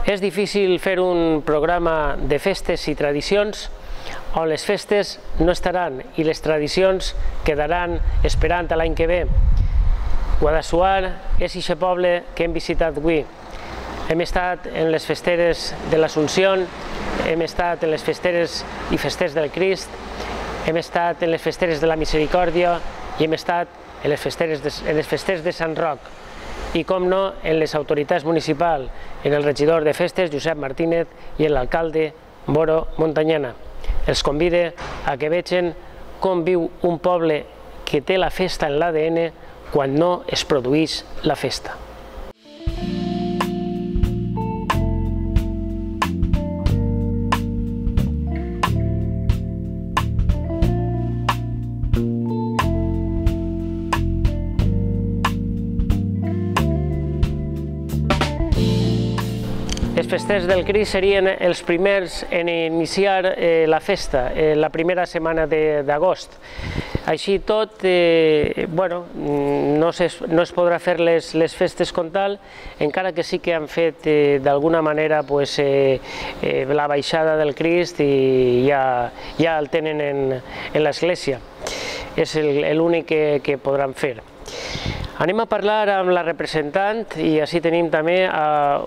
És difícil fer un programa de festes i tradicions on les festes no estaran i les tradicions quedaran esperant a l'any que ve. Guadassuar és aquest poble que hem visitat avui. Hem estat en les festeres de l'Assumpció, hem estat en les festeres i festers del Crist, hem estat en les festeres de la Misericòrdia i hem estat en les festers de Sant Roc. I, com no, en les autoritats municipals, en el regidor de festes, Josep Martínez, i en l'alcalde, Boro Montanyana. Els convide a que vegin com viu un poble que té la festa en l'ADN quan no es produeix la festa. Els festers del Crist serien els primers en iniciar la festa, la primera setmana d'agost. Així tot, no es podrà fer les festes com tal, encara que sí que han fet d'alguna manera la baixada del Crist i ja el tenen en l'església. És l'únic que podran fer. Anem a parlar amb la representant i així tenim també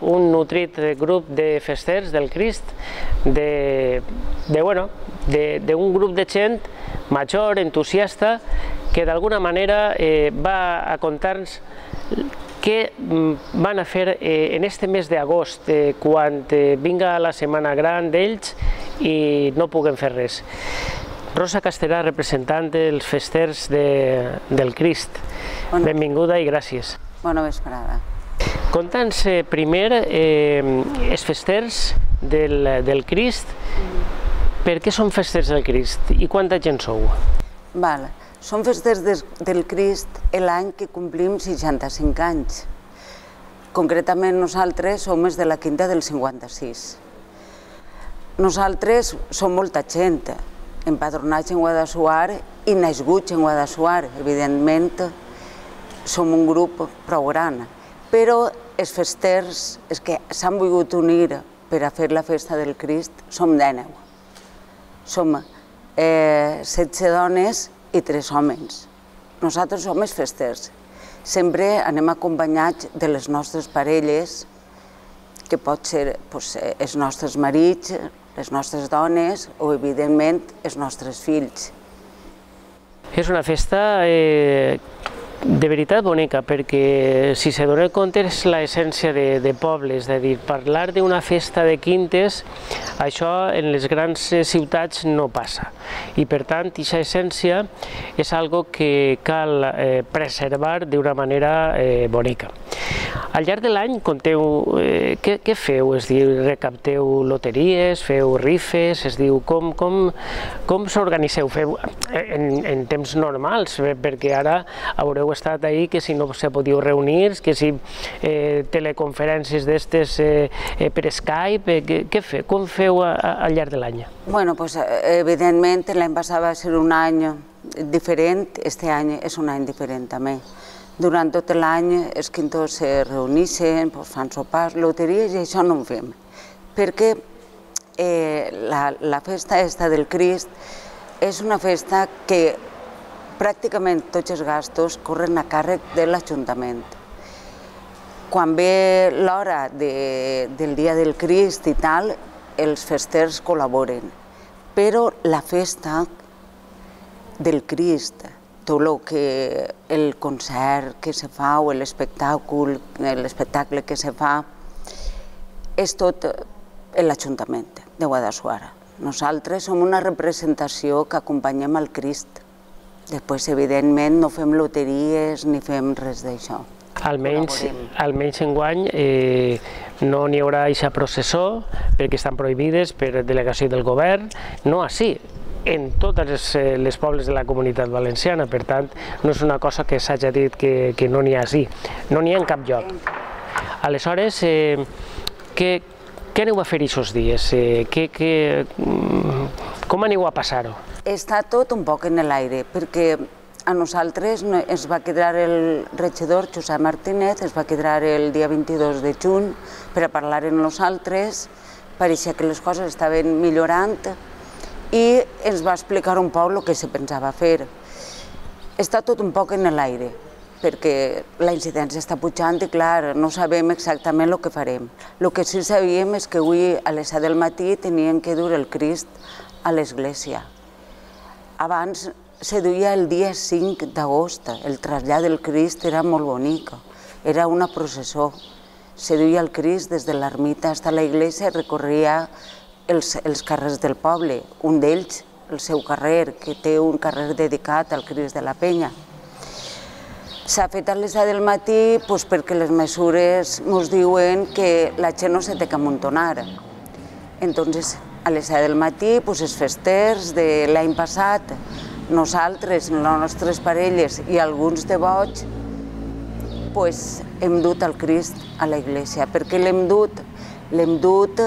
un nutrit grup de festers del Crist, d'un grup de gent major, entusiasta, que d'alguna manera va a contar-nos què van a fer en este mes d'agost, quan vinga la setmana gran d'ells i no puguem fer res. Rosa Casterà, representant dels festers del Crist. Benvinguda i gràcies. Bona vesprada. Conta'ns primer els festers del Crist. Per què són festers del Crist i quanta gent sou? Som festers del Crist l'any que complim 65 anys. Concretament nosaltres som els de la quinta del 56. Nosaltres som molta gent, empadronats en Guadassuar i nascuts en Guadassuar. Evidentment, som un grup prou gran, però els festers que s'han volgut unir per a fer la festa del Crist som 19. Som 16 dones i 3 homes. Nosaltres som els festers. Sempre anem acompanyats de les nostres parelles, que pot ser els nostres marits, les nostres dones o, evidentment, els nostres fills. És una festa de veritat bonica, perquè si se dona compte és l'essència de pobles, és a dir, parlar d'una festa de quintes, això en les grans ciutats no passa. I per tant, aquesta essència és algo que cal preservar d'una manera bonica. Al llarg de l'any conteu què feu? És a dir, recapteu loteries, feu rifes, és a dir, com s'organitzeu? Feu en temps normals, perquè ara haureu estat ahí que si no se podíeu reunir, que si teleconferències d'estes per Skype, com feu al llarg de l'any? Bueno, evidentment l'any passat va ser un any diferent, aquest any és un any diferent també. Durant tot l'any els quintors se reuneixen, fan sopars, loteries i això no ho fem, perquè la festa del Crist és una festa que pràcticament tots els gastos corren a càrrec de l'Ajuntament. Quan ve l'hora del dia del Crist i tal, els festers col·laboren, però la festa del Crist, tot el concert que se fa o l'espectacle que se fa, és tot l'Ajuntament de Guadassuar. Nosaltres som una representació que acompanyem el Crist. Després, evidentment, no fem loteries ni fem res d'això. Almenys enguany no n'hi haurà aquesta processó perquè estan prohibides per delegació del govern, no així. en totes les pobles de la Comunitat Valenciana, per tant, no és una cosa que s'hagi dit que no n'hi ha així, no n'hi ha en cap lloc. Aleshores, què aneu a fer aquests dies? Com aneu a passar-ho? Està tot un poc en l'aire, perquè a nosaltres es va quedar el regidor Josep Martínez, es va quedar el dia 22 de juny per a parlar amb nosaltres, pareixia que les coses estaven millorant i ens va explicar un poc el que se pensava fer. Està tot un poc en l'aire, perquè la incidència està pujant i, clar, no sabem exactament el que farem. El que sí sabíem és que avui a les 7 del matí tenien que dur el Crist a l'església. Abans se duia el dia 5 d'agost, el trasllat del Crist era molt bonic, era una processó. Se duia el Crist des de l'ermita fins a la iglesia i recorria els carrers del poble, un d'ells, el seu carrer, que té un carrer dedicat al Crist de la Penya. S'ha fet a les 7 del matí perquè les mesures ens diuen que la gent no se té que amuntonar. Entonces, a les 7 del matí, els festers de l'any passat, nosaltres, les nostres parelles i alguns devots, hem dut el Crist a la iglesia. Per què l'hem dut? L'hem dut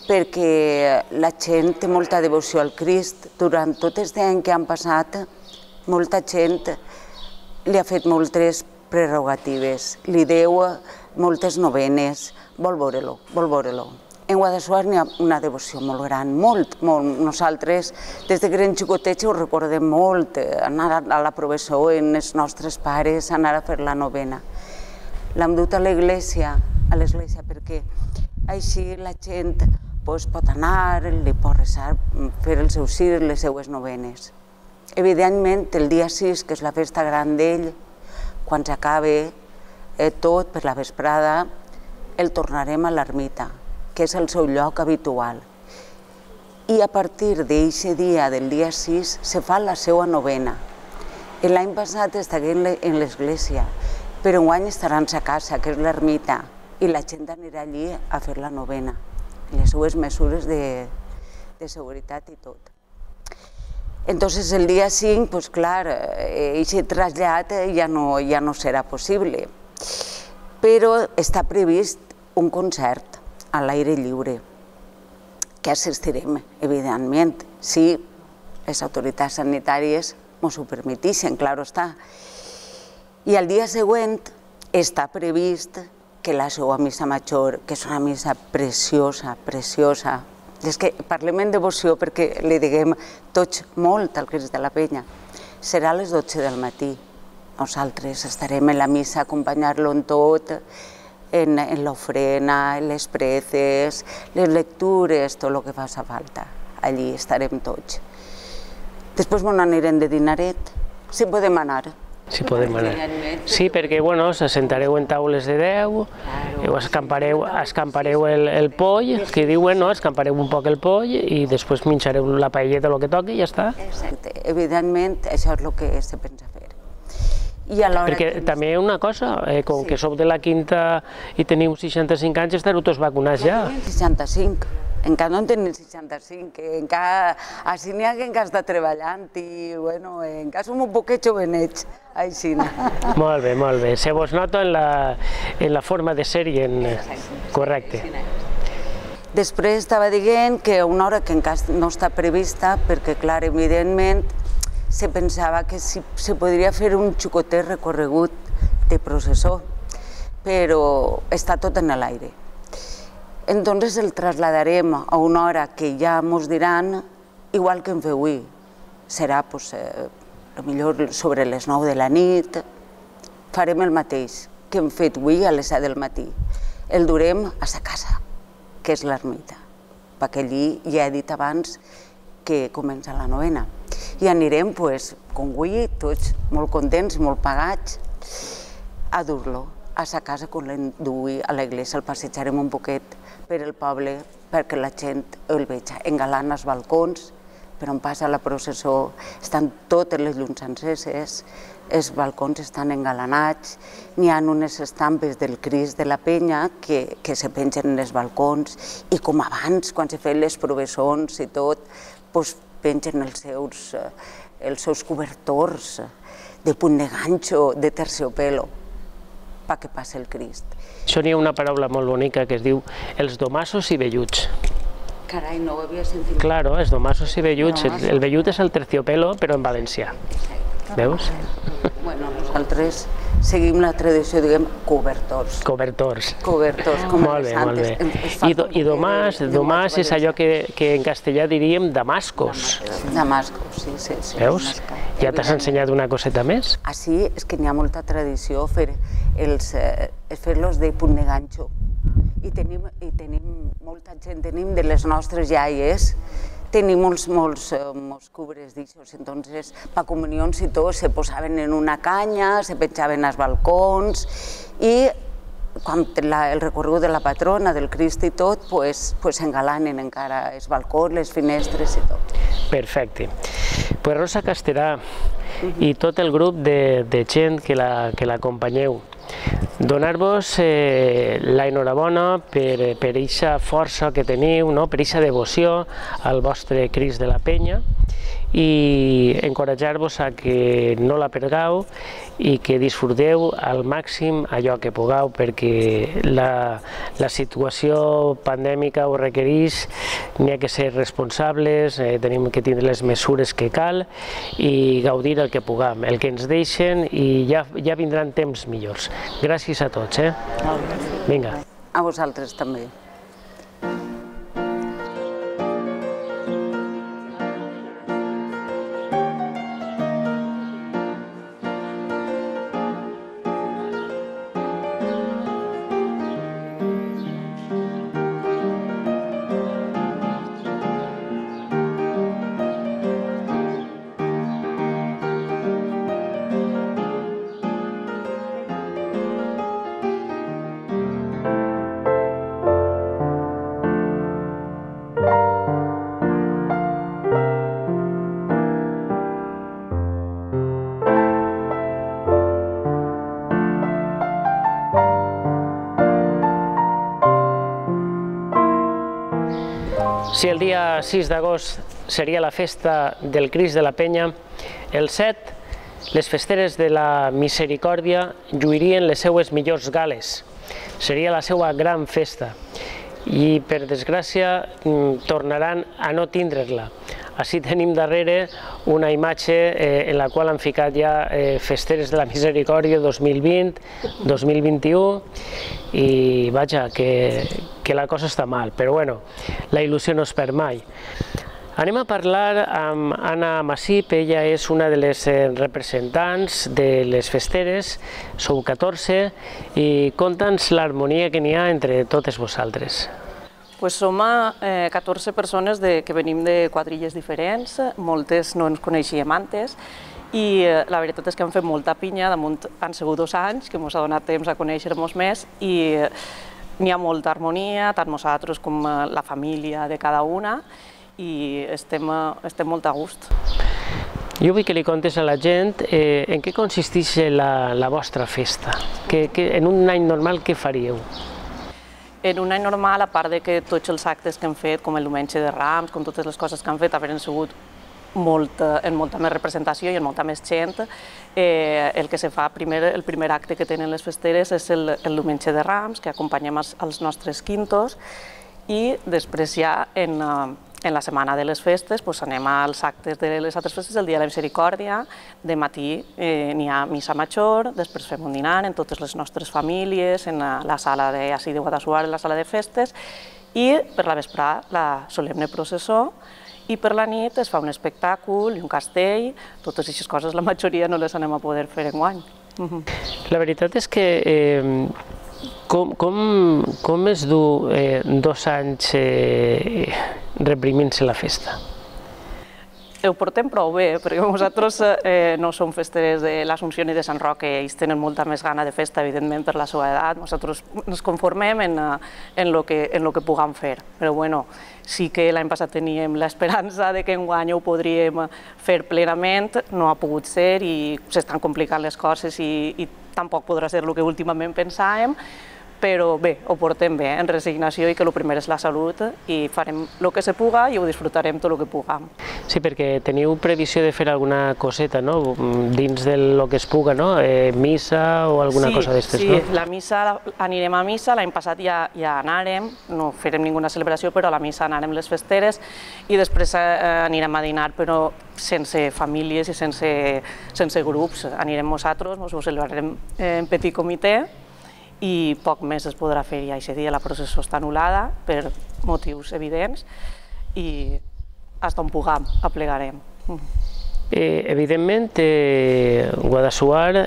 perquè la gent té molta devoció al Crist. Durant tot aquest any que han passat, molta gent li ha fet moltes prerrogatives, li deu moltes novenes, vol veure-lo, vol veure-lo. En Guadassuar n'hi ha una devoció molt gran, molt. Nosaltres, des de que eren xicotets, ho recordem molt, anar a la professó amb els nostres pares, anar a fer la novena. L'hem dut a l'església, perquè així la gent pot anar, li pot resar, fer els seus cirs, les seues novenes. Evidentment, el dia 6, que és la festa gran d'ell, quan s'acabe tot per la vesprada, el tornarem a l'ermita, que és el seu lloc habitual. I a partir d'aquest dia, del dia 6, se fa la seva novena. L'any passat estaven en l'església, però enguany estaran a casa, que és l'ermita, i la gent anirà allí a fer la novena, les seues mesures de seguretat i tot. Entonces el dia 5, clar, aquest trasllat ja no serà possible, però està previst un concert a l'aire lliure, que assistirem, evidentment, si les autoritats sanitàries ens ho permeteixen, clar està. I el dia següent està previst que la seva missa major, que és una missa preciosa, preciosa, és que parlem en devoció perquè li diguem tots molt al Crist de la Penya, serà a les 12 del matí. Nosaltres estarem en la missa a acompanyar-lo en tot, en l'ofrena, en les preces, les lectures, tot el que faci falta. Allí estarem tots. Després ens anirem de dinaret, si podem anar. Si podem anar. Sí, perquè s'assentareu en taules de 10, escampareu el poll, que diuen, escampareu un poc el poll i després menjareu la paelleta, el que toqui i ja està. Exacte, evidentment això és el que se pensa fer. Perquè també una cosa, com que sou de la Quinta i teniu 65 anys, estareu tots vacunats ja. 65, encara no en tenim 65, encara així n'hi ha que encara està treballant i encara som un poquet jovenets, així. Molt bé, molt bé. Se vos nota en la forma de ser i en... Correcte. Després estava dient que una hora que encara no està prevista, perquè clar, evidentment, se pensava que se podria fer un xicotet recorregut de processó, però està tot en l'aire. Entonces el trasladarem a una hora que ja ens diran, igual que hem fet avui. Serà, potser sobre les 9 de la nit, farem el mateix que hem fet avui a les 7 del matí. El durem a sa casa, que és l'ermita, perquè allí ja he dit abans que comença la novena. I anirem, com avui, tots molt contents, molt pagats, a dur-lo a sa casa quan l'enduï a l'església. El passejarem un poquet per el poble perquè la gent el vegi. Engalant els balcons, per on passa la processó, estan totes les llums enceses, els balcons estan engalanats, n'hi ha unes estampes del Crist de la Penya que se pengen en els balcons i com abans, quan se feien les provessons i tot, pengen els seus cobertors de punt de ganxo, de terciopelo, perquè passi el Crist. Això n'hi ha una paraula molt bonica que es diu els domassos i velluts. Carai, no ho havia sentit. Claro, els domassos i velluts. El vellut és el terciopelo, però en valencià. Veus? Bueno, nosaltres seguim la tradició, diguem, cobertors. Cobertors. Cobertors, com els santes. I domàs és allò que en castellà diríem damascos. Damascos, sí. Veus? Ja t'has ensenyat una coseta més? Així és que n'hi ha molta tradició fer-los de punt de ganxo. I tenim molta gent, tenim de les nostres iaies, tenim molts cubres d'aixòs, entonces, per comunions i tot, se posaven en una canya, se penjaven als balcons i quan el recorregut de la patrona, del Crist i tot, s'engalanen encara els balcons, les finestres i tot. Perfecte. Pues Rosa Casterà i tot el grup de gent que l'acompanyeu, donar-vos l'enhorabona per aquesta força que teniu, per aquesta devoció al vostre Crist de la Penya i encoratjar-vos a que no la perdeu i que disfruteu al màxim allò que pugueu, perquè la situació pandèmica ho requereix, n'hi ha que ser responsables, tenim que tindre les mesures que cal i gaudir el que puguem, el que ens deixen, i ja vindran temps millors. Gràcies a tots. Vinga. A vosaltres també. Si el dia 6 d'agost seria la festa del Crist de la Penya, el 7, les festeres de la Misericòrdia lluirien les seues millors gales. Seria la seva gran festa i, per desgràcia, tornaran a no tindre-la. Així tenim darrere una imatge en la qual han ficat ja festeres de la Misericòrdia 2020-2021 i vaja, que la cosa està mal, però bueno, la il·lusió no es perd mai. Anem a parlar amb Anna Massip, ella és una de les representants de les festeres, sou 14, i conta'ns l'harmonia que n'hi ha entre totes vosaltres. Som 14 persones que venim de quadrilles diferents, moltes no ens coneixíem antes, i la veritat és que hem fet molta pinya, damunt han sigut 2 anys, que ens ha donat temps a conèixer-nos més, i n'hi ha molta harmonia, tant nosaltres com la família de cada una, i estem molt a gust. Jo vull que li contes a la gent en què consisteix la vostra festa, en un any normal què faríeu? En un any normal, a part de que tots els actes que hem fet, com el diumenge de Rams, com totes les coses que han fet, haveren sigut en molta més representació i en molta més gent, el que se fa el primer acte que tenen les festeres és el diumenge de Rams, que acompanyem els nostres quintos, i després ja en la setmana de les festes anem als actes de les altres festes, el dia de la Misericòrdia, de matí n'hi ha missa major, després fem un dinar en totes les nostres famílies, en la sala de Guadassuar, en la sala de festes, i per la vesprada la solemne processó, i per la nit es fa un espectacle i un castell, totes aquestes coses la majoria no les anem a poder fer enguany. La veritat és que com es du 2 anys reprimint-se la festa? Ho portem prou bé, perquè nosaltres no som festeres de l'Assumpció ni de Sant Roc, que ells tenen molta més gana de festa, evidentment, per la seva edat. Nosaltres ens conformem en el que puguem fer. Però bueno, sí que l'any passat teníem l'esperança que enguany ho podríem fer plenament, no ha pogut ser i s'estan complicant les coses i tampoc podrà ser el que últimament pensàvem, però bé, ho portem bé, en resignació, i que el primer és la salut, i farem el que se puga i ho disfrutarem tot el que puguem. Sí, perquè teniu previsió de fer alguna coseta, no?, dins del que es puga, no?, missa o alguna cosa d'estes, no? Sí, la missa, anirem a missa, l'any passat ja anàrem, no farem ninguna celebració, però a la missa anàrem les festeres, i després anirem a dinar, però sense famílies i sense grups. Anirem nosaltres, ens ho celebrarem en petit comitè, i poc més es podrà fer ja aquest dia. La processó està anul·lada per motius evidents i fins on puguem aplegarem. Evidentment, Guadassuar,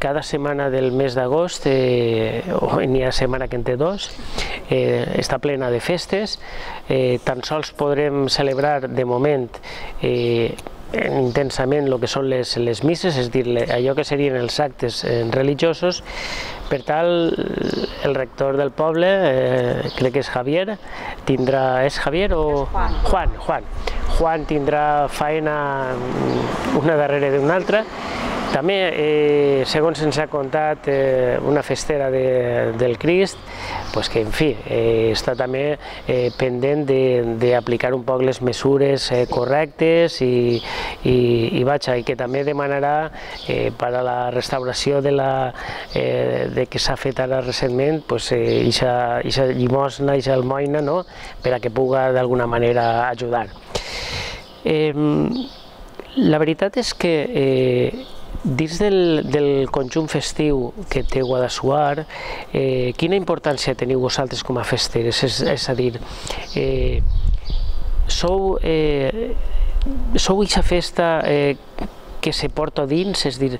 cada setmana del mes d'agost, o n'hi ha setmana que en té dos, està plena de festes. Tan sols podrem celebrar de moment intensament el que són les misses, és a dir, allò que serien els actes religiosos. Per tal, el rector del poble, crec que és Javier, tindrà... És Javier o...? Juan tindrà faena una darrere d'una altra. També, segons ens ha contat una festera del Crist, que, en fi, està també pendent d'aplicar un poc les mesures correctes i que també demanarà per a la restauració que s'ha fet ara recentment aquesta llimosna, aquesta almoina, per a que puga d'alguna manera ajudar. La veritat és que dins del conjunt festiu que té Guadassuar, quina importància teniu vosaltres com a festeres? És a dir, sou aquesta festa que se porta dins, és a dir,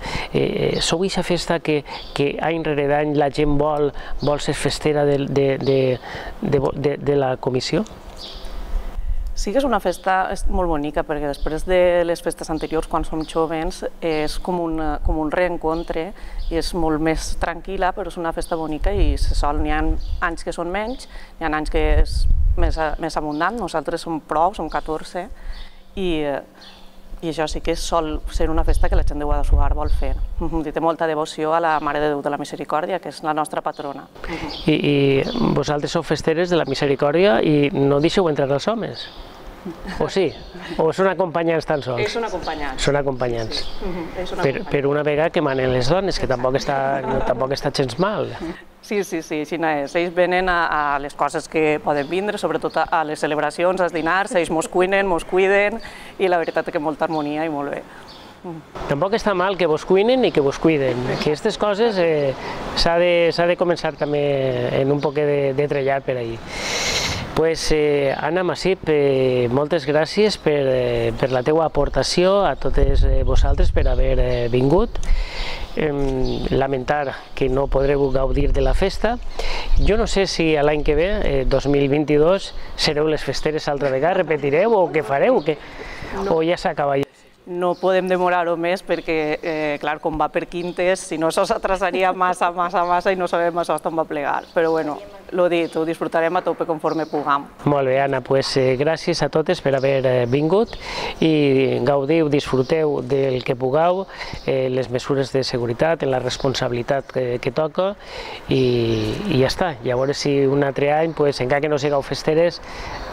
sou aquesta festa que any rere any la gent vol ser festera de la comissió? Sí que és una festa molt bonica, perquè després de les festes anteriors, quan som jovens, és com un reencontre i és molt més tranquil·la, però és una festa bonica i se sol. N'hi ha anys que són menys, n'hi ha anys que és més abundant. Nosaltres som prou, som 14, i això sí que sol ser una festa que la gent de Guadassuar vol fer. Té molta devoció a la Mare de Déu de la Misericòrdia, que és la nostra patrona. I vosaltres sou festeres de la Misericòrdia i no deixeu entrar els homes? O sí? O són acompanyants tan sols? Són acompanyants. Són acompanyants. Per una vegada que manen les dones, que tampoc està gens mal. Sí, així és. Ells venen a les coses que poden vindre, sobretot a les celebracions, als dinars, ells mos cuinen, mos cuiden, i la veritat és que molta harmonia i molt bé. Tampoc està mal que vos cuinen i que vos cuiden. Aquestes coses s'ha de començar també en un poc de trellar per ahí. Anna Massip, moltes gràcies per la teua aportació, a totes vosaltres per haver vingut. Lamentar que no podreu gaudir de la festa. Jo no sé si l'any que ve, 2022, sereu les festeres altra vegada, repetireu o què fareu, o ja s'acaba ja? No podem demorar-ho més perquè, clar, com va per quintes, si no s'atrasaria massa i no sabem això on va plegar. Però bueno, l'ho dit, ho disfrutarem a tope conforme puguem. Molt bé, Anna, gràcies a totes per haver vingut i gaudiu, disfruteu del que pugueu, les mesures de seguretat, la responsabilitat que toca i ja està. I a veure si un altre any, encara que no sigueu festeres,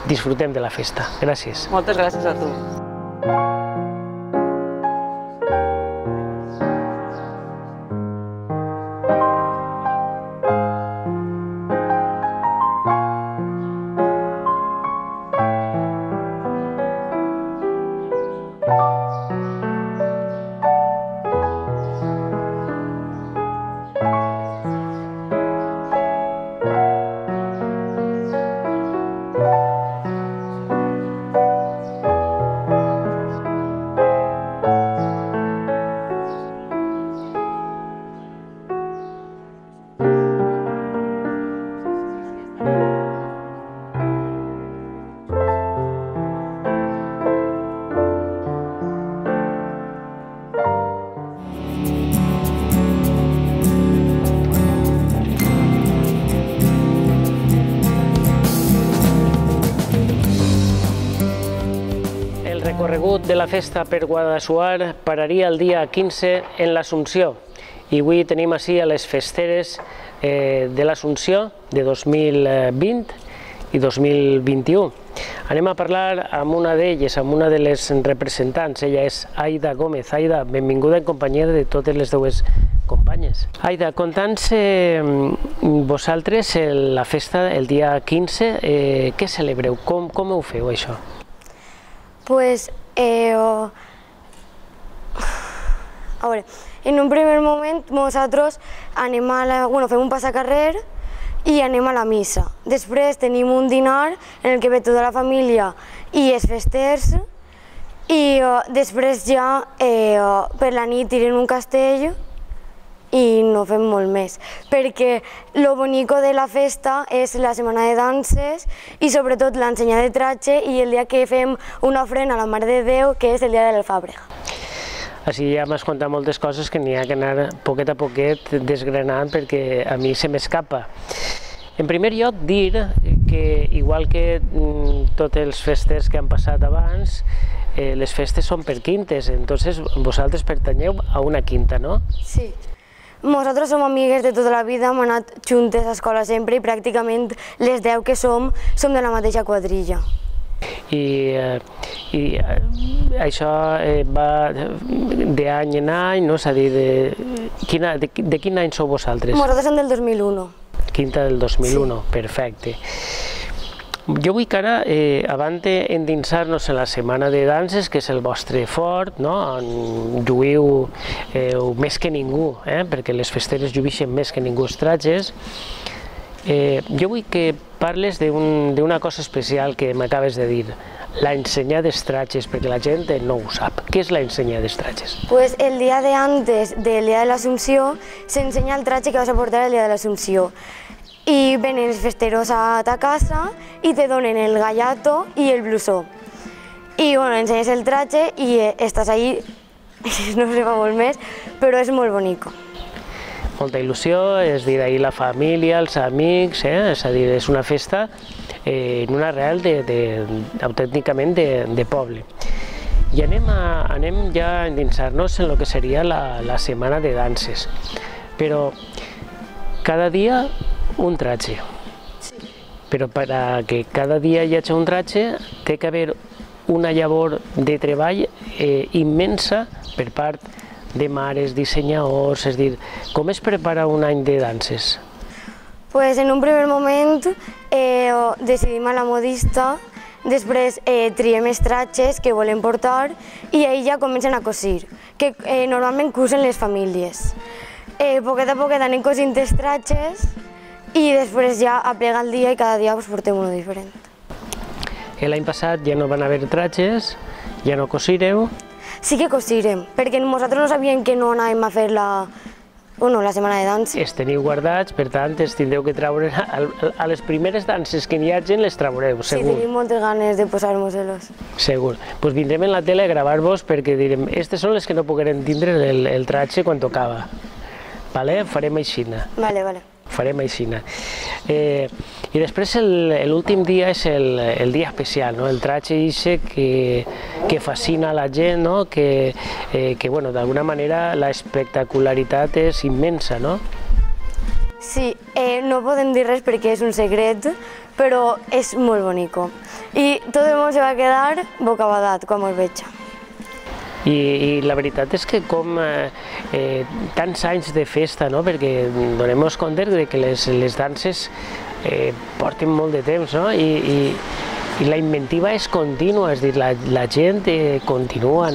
disfrutem de la festa. Gràcies. Moltes gràcies a tu. El recorregut de la festa per Guadassuar pararia el dia 15 en l'Assumpció i avui tenim així a les festeres de l'Assumpció de 2020 i 2021. Anem a parlar amb una d'elles, amb una de les representants. Ella és Aida Gómez. Aida, benvinguda en companyia de totes les dues companyes. Aida, conta'ns vosaltres la festa el dia 15, què celebreu? Com ho feu, això? Pues, a veure, en un primer moment nosaltres anem fem un passacarrer i anem a la missa. Després tenim un dinar en el que ve tota la família i els festers i després ja per la nit tirem un castell i no fem molt més, perquè lo bonico de la festa és la setmana de danses i sobretot l'ensenyar de tratge i el dia que fem una ofrena a la Mare de Déu, que és el dia de l'Alfàbrega. Així ja m'has contat moltes coses que n'hi ha que anar poquet a poquet desgranant perquè a mi se m'escapa. En primer lloc, dir que, igual que tots els festes que han passat abans, les festes són per quintes, entonces vosaltres pertanyeu a una quinta, no? Sí. Nosaltres som amigues de tota la vida, hem anat juntes a escola sempre i pràcticament les 10 que som de la mateixa quadrilla. I això va d'any en any, no? És a dir, de quin any sou vosaltres? Nosaltres som del 2001. Quinta del 2001, sí. Perfecte. Jo vull que ara, abans d'endinsar-nos en la setmana de danses, que és el vostre fort, no? On lluïu més que ningú, perquè les festeres lluïxen més que ningú els tratges, jo vull que parles d'una cosa especial que m'acabes de dir, l'ensenyar dels tratges, perquè la gent no ho sap. Què és l'ensenyar dels tratges? Pues el dia de antes del dia de l'Assumpció s'ensenya el tratge que vas a portar el dia de l'Assumpció. I venen els festeros a ta casa i te donen el gallato i el blusó. I ensenyes el tratge i estàs allí, no se fa molt més, però és molt bonic. Molta il·lusió, és dir, ahir la família, els amics, és a dir, és una festa en una arrel autènticament de poble. I anem ja a endinsar-nos en el que seria la setmana de danses, però cada dia un tratge. Però perquè cada dia hi hagi un tratge té que haver una llavor de treball immensa per part de mares, dissenyadors, és a dir, com es prepara un any de danses? Pues en un primer moment decidim a la modista, després triem els tratges que volem portar i ahir ja comencen a cosir, que normalment cosen les famílies. Poquet a poquet anem cosint els tratges i després ja aplega el dia i cada dia portem uno diferent. L'any passat ja no van haver tratges, ja no cosireu? Sí que cosirem, perquè nosaltres no sabíem que no anàvem a fer la setmana de danses. Els teniu guardats, per tant, els tindreu que treure a les primeres danses que n'hi hagi, les traureu, segur. Sí, tenim moltes ganes de posar-nos-los. Segur. Doncs vindrem en la tele a gravar-vos perquè direm, aquestes són les que no pogueren tindre el tratge quan tocava. Farem aixina. Vale. Farem aixina. I després l'últim dia és el dia especial, el tratge que fascina la gent, que d'alguna manera l'espectacularitat és immensa, no? Sí, no podem dir res perquè és un secret, però és molt bonic. I tot el món se va quedar bocabadat quan els veig. I la veritat és que com tants anys de festa, perquè donem-nos compte que les danses porten molt de temps, i la inventiva és contínua, és a dir, la gent continua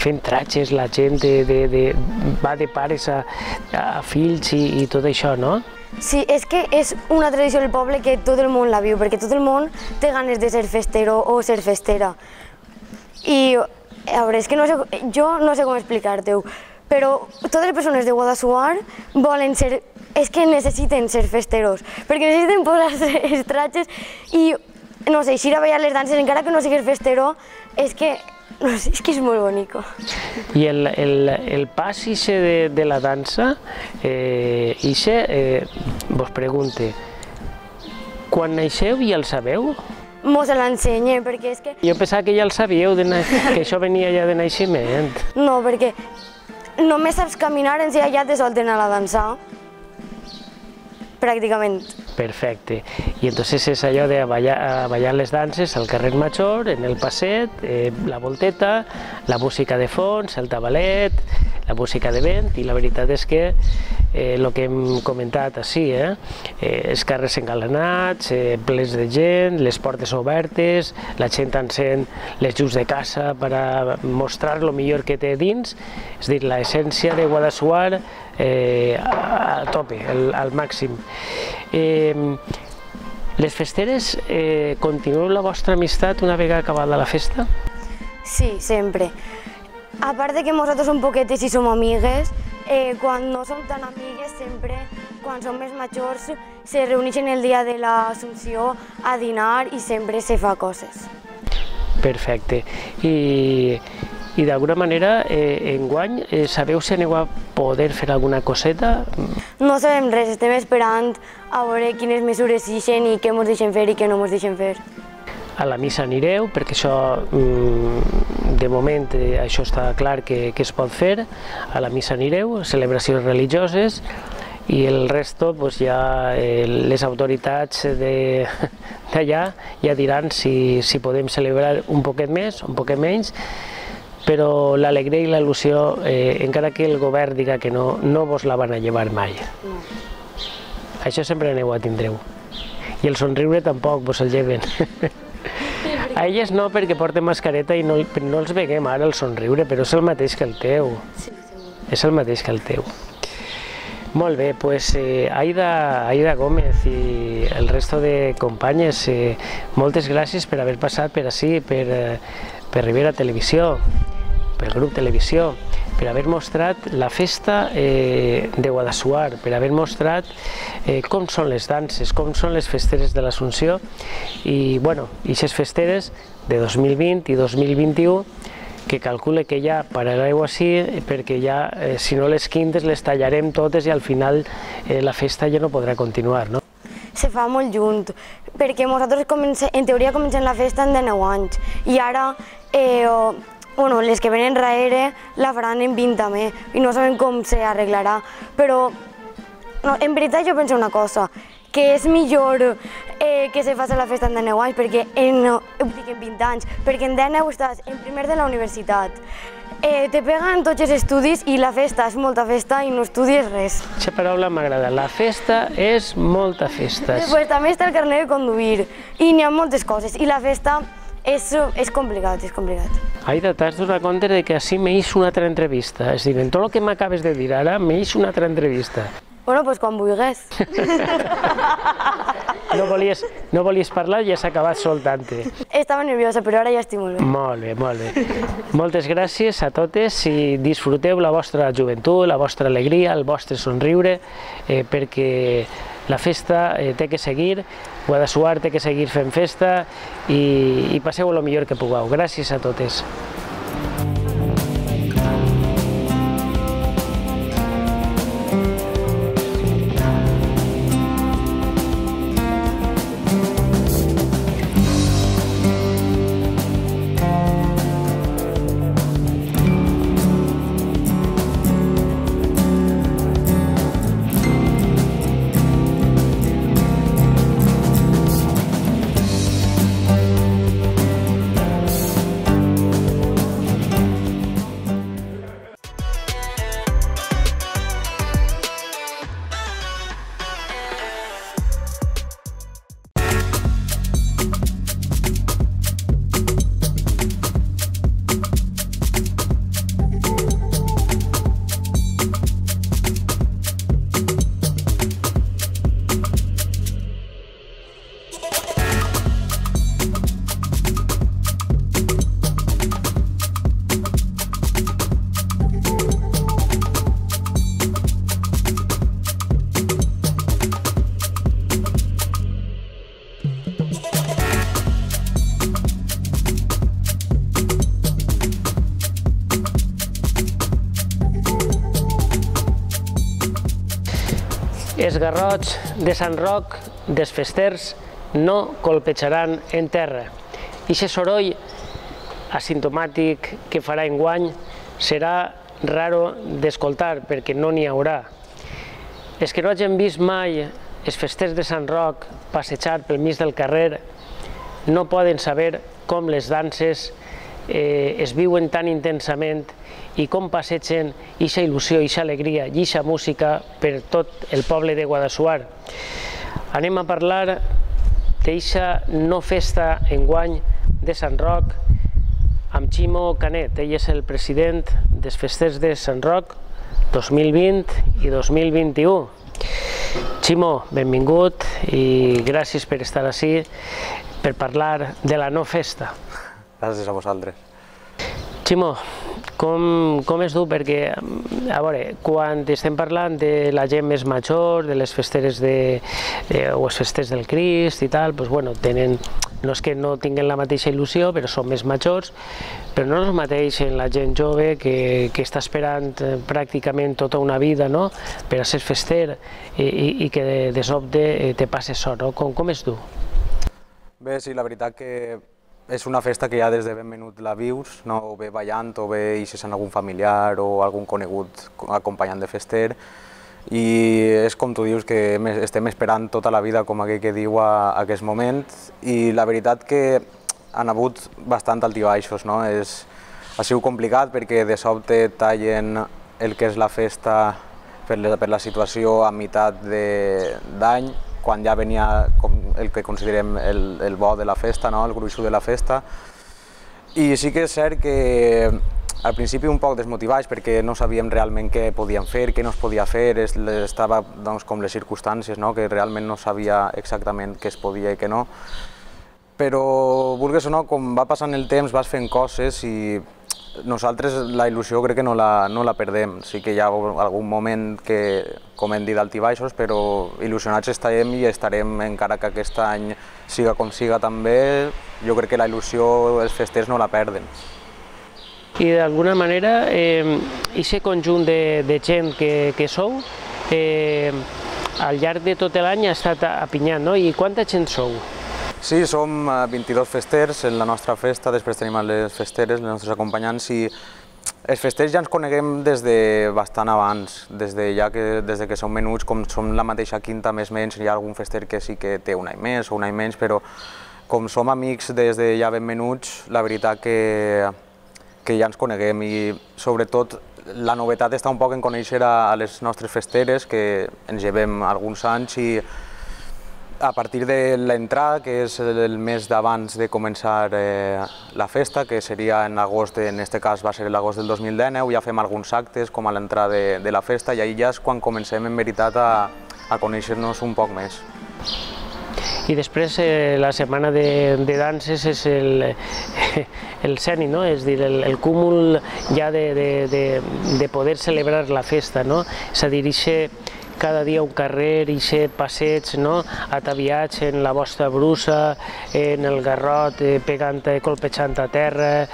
fent tratges, la gent va de pares a fills i tot això, no? Sí, és que és una tradició del poble que tot el món la viu, perquè tot el món té ganes de ser festero o ser festera. I a veure, és que jo no sé com explicar-te-ho, però totes les persones de Guadassuar volen ser, és que necessiten ser festeros, perquè necessiten posar-se els tratges i, no sé, eixir a ballar les danses, encara que no siguis festero, és que és molt bonic. I el pas de la dansa, vos pregunte, quan naixeu ja el sabeu? Mos l'ensenyen, perquè és que... Jo pensava que ja el sabíeu, que això venia ja de naixement. No, perquè només saps caminar, en si ja te solten a la dansar, pràcticament. Perfecte. I entonces és allò de ballar les danses al carrer Major, en el passet, la volteta, la música de fons, el tabalet, la música de vent, i la veritat és que el que hem comentat així, els carrers engalanats, plens de gent, les portes obertes, la gent encén les llums de casa per a mostrar el millor que té dins, és a dir, l'essència de Guadassuar a tope, al màxim. Les festeres, continueu la vostra amistat una vegada acabada la festa? Sí, sempre. A part de que nosaltres som poquetes i som amigues, quan no som tan amigues, sempre, quan som més majors, se reuneixen el dia de l'Assumpció a dinar i sempre se fa coses. Perfecte. I d'alguna manera, enguany, sabeu si aneu a poder fer alguna coseta? No sabem res, estem esperant a veure quines mesures ixen i què ens deixen fer i què no ens deixen fer. A la missa anireu, perquè això, de moment, això està clar que es pot fer. A la missa anireu, celebracions religioses, i el resto, ja les autoritats d'allà ja diran si podem celebrar un poquet més o un poquet menys, però l'alegria i l'il·lusió, encara que el govern diga que no, no vos la van a llevar mai. Això sempre aneu a tindreu. I el somriure tampoc vos el lleven. A elles no, perquè porten mascareta i no els veiem ara el somriure, però és el mateix que el teu. És el mateix que el teu. Molt bé, doncs Aida Gómez i el resto de companyes, moltes gràcies per haver passat per ací, per Ribera Televisió, pel grup Televisió, per haver mostrat la festa de Guadassuar, per haver mostrat com són les danses, com són les festeres de l'Assumpció i, bueno, aquestes festeres de 2020 i 2021 que calcule que ja parareu així perquè ja, si no les quintes, les tallarem totes i al final la festa ja no podrà continuar, no? Se fa molt junt, perquè nosaltres en teoria comencem la festa en 19 anys i ara les que venen darrere la faran en 20 també i no sabem com s'arreglarà, però en veritat jo penso una cosa, que és millor que se faci la festa en 19 anys, perquè en 20 anys, perquè en 19 estàs en primer de la universitat, te peguen tots els estudis i la festa és molta festa i no estudies res. Aquesta paraula m'agrada, la festa és molta festa. Després també està el carnet de conduir i n'hi ha moltes coses i la festa és complicat, és complicat. Aida, t'has donat compte que així m'eix una altra entrevista, és a dir, en tot el que m'acabes de dir ara m'eix una altra entrevista. Bueno, doncs quan vulguis. No volies parlar i ja s'ha acabat soltant-te. Estava nerviosa, però ara ja estic molt bé. Molt bé, molt bé. Moltes gràcies a totes i disfruteu la vostra joventut, la vostra alegria, el vostre somriure, perquè la festa té que seguir, Guadassuar té que seguir fent festa i passeu el millor que pugueu. Gràcies a totes. Els garrots de Sant Roc dels festers no colpejaran en terra. Aquest soroll asimptomàtic que farà enguany serà raro d'escoltar perquè no n'hi haurà. Els que no hagin vist mai els festers de Sant Roc passejar pel mig del carrer no poden saber com les danses es viuen tan intensament i com passegen eixa il·lusió, eixa alegria i eixa música per tot el poble de Guadassuar. Anem a parlar d'eixa no festa enguany de Sant Roc amb Ximo Canet. Ell és el president dels festers de Sant Roc 2020 i 2021. Ximo, benvingut i gràcies per estar ací per parlar de la no festa. Gràcies a vosaltres. Ximo, com es du? Perquè, a veure, quan estem parlant de la gent més major, de les festeres o els festers del Crist i tal, doncs, bueno, no és que no tinguin la mateixa il·lusió, però són més majors, però no és el mateix en la gent jove que està esperant pràcticament tota una vida per a ser fester i que de sobte te passa això, no? Com es du? Bé, sí, la veritat que és una festa que ja des de ben menut la vius, o bé ballant, o bé ixes en algun familiar o algun conegut acompanyant de fester, i és com tu dius que estem esperant tota la vida, com aquell que diu, a aquest moment, i la veritat que han hagut bastant altibaixos, no? Ha sigut complicat perquè de sobte tallen el que és la festa per la situació a meitat d'any, quan ja venia el que considerem el bo de la festa, el gruixut de la festa. I sí que és cert que al principi un poc desmotivats perquè no sabíem realment què podíem fer, què no es podia fer, estava com les circumstàncies, que realment no sabia exactament què es podia i què no. Però, vulguis o no, com va passant el temps vas fent coses i nosaltres la il·lusió crec que no la perdem. Sí que hi ha algun moment que, com hem dit, d'altibaixos, però il·lusionats estarem i estarem, encara que aquest any siga com siga també, jo crec que la il·lusió, els festers no la perden. I d'alguna manera, aquest conjunt de gent que sou, al llarg de tot l'any ha estat apinyant, no? I quanta gent sou? Sí, som 22 festers en la nostra festa, després tenim les festeres, les nostres acompanyants, i els festers ja ens coneguem des de bastant abans, des que som menuts, com som la mateixa quinta més o menys, hi ha algun fester que sí que té un any més o un any menys, però com som amics des de ja ben menuts, la veritat que ja ens coneguem, i sobretot la novetat està un poc en conèixer a les nostres festeres, que ens llevem alguns anys, i a partir de l'entrada, que és el mes d'abans de començar la festa, que seria en agost, en aquest cas va ser l'agost del 2019, ja fem alguns actes com a l'entrada de la festa, i ahir ja és quan comencem en veritat a conèixer-nos un poc més. I després la setmana de danses és el cènit, no? És a dir, el cúmul ja de poder celebrar la festa, no? És a dir, cada dia un carrer, aquest passeig, ataviats en la vostra brusa, en el garrot, colpejant a terra,